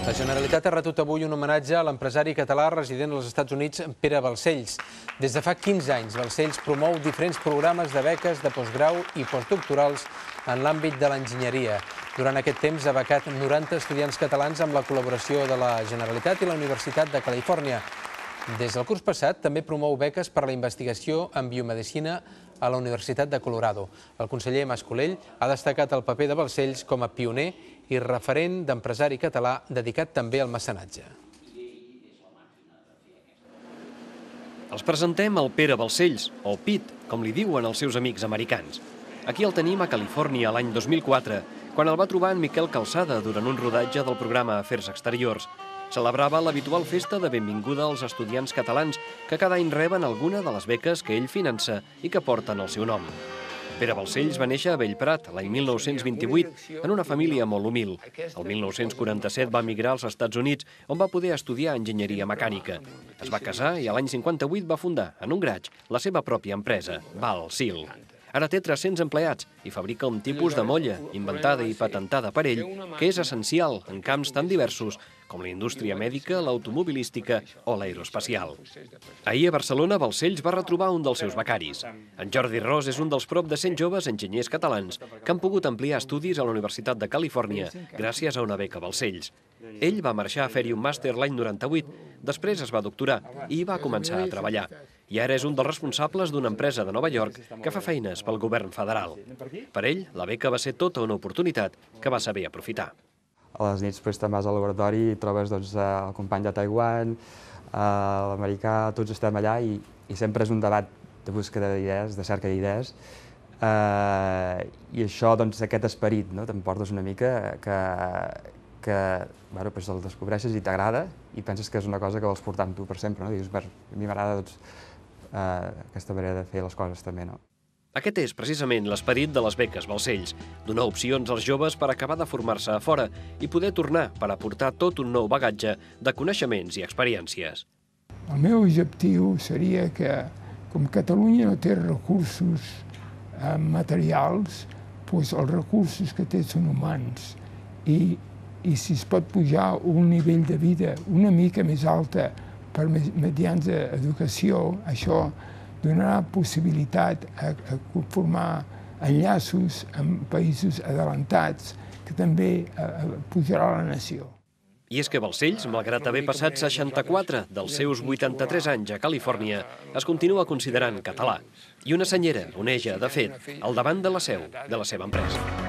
La Generalitat ha retut avui un homenatge a l'empresari català resident als Estats Units, Pere Balcells. Des de fa 15 anys, Balcells promou diferents programes de beques de postgrau i postdoctorals en l'àmbit de l'enginyeria. Durant aquest temps ha becat 90 estudiants catalans amb la col·laboració de la Generalitat i la Universitat de Califòrnia. Des del curs passat també promou beques per a la investigació en biomedicina a la Universitat de Colorado. El conseller Mas Colell ha destacat el paper de Balcells com a pioner i referent d'empresari català dedicat també al mecenatge. Els presentem el Pere Balcells, o Pete, com li diuen els seus amics americans. Aquí el tenim a Califòrnia l'any 2004, quan el va trobar en Miquel Calçada durant un rodatge del programa Afers Exteriors. Celebrava l'habitual festa de benvinguda als estudiants catalans que cada any reben alguna de les beques que ell finança i que porten el seu nom. Pere Balcells va néixer a Bellprat l'any 1928 en una família molt humil. El 1947 va emigrar als Estats Units, on va poder estudiar enginyeria mecànica. Es va casar i l'any 58 va fundar, en un garatge, la seva pròpia empresa, Balsil. Ara té 300 empleats i fabrica un tipus de molla, inventada i patentada per ell, que és essencial en camps tan diversos com la indústria mèdica, l'automobilística o l'aeroespacial. Ahir a Barcelona, Balcells va retrobar un dels seus becaris. En Jordi Ros és un dels prop de 100 joves enginyers catalans que han pogut ampliar estudis a la Universitat de Califòrnia gràcies a una beca Balcells. Ell va marxar a fer-hi un màster l'any 98, després es va doctorar i va començar a treballar. I ara és un dels responsables d'una empresa de Nova York que fa feines pel govern federal. Per ell, la beca va ser tota una oportunitat que va saber aprofitar. A les nits te'n vas al laboratori i trobes el company de Taiwan, l'americà, tots estem allà i sempre és un debat de búsqueda d'idees, de cerca d'idees. I això, aquest esperit, t'emportes una mica que el descobreixes i t'agrada i penses que és una cosa que vols portar amb tu per sempre. Dius, a mi m'agrada aquesta manera de fer les coses també. Aquest és precisament l'esperit de les beques Balcells, donar opcions als joves per acabar de formar-se a fora i poder tornar per aportar tot un nou bagatge de coneixements i experiències. El meu objectiu seria que, com Catalunya no té recursos materials, els recursos que té són humans i si es pot pujar un nivell de vida una mica més alta mediante educació, això donarà possibilitat a formar enllaços amb països adelantats que també pujarà la nació. I és que Balcells, malgrat haver passat 64 dels seus 83 anys a Califòrnia, es continua considerant català. I una senyera oneja, de fet, al davant de la seu de la seva empresa.